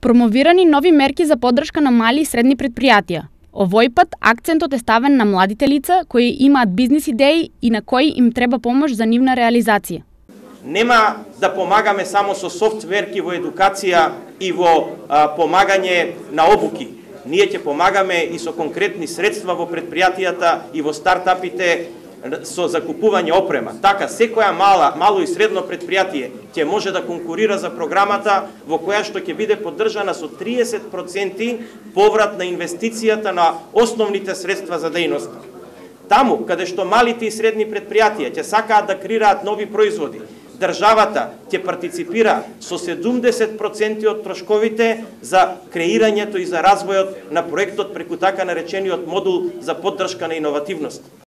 Промовирани нови мерки за поддршка на мали и средни предпријатија. Овој пат акцентот е ставен на младите лица кои имаат бизнис идеи и на кои им треба помош за нивна реализација. Нема да помагаме само со софтверки во едукација и во помагање на обуки. Ние ќе помагаме и со конкретни средства во предпријатијата и во стартапите со закупување опрема. Така, секоја мало и средно предпријатие ќе може да конкурира за програмата во која што ќе биде поддржана со 30% поврат на инвестицијата на основните средства за дејноста. Таму, каде што малите и средни предпријатија ќе сакаат да креираат нови производи, државата ќе партиципира со 70% од трошковите за креирањето и за развојот на проектот преку така наречениот модул за поддршка на иновативност.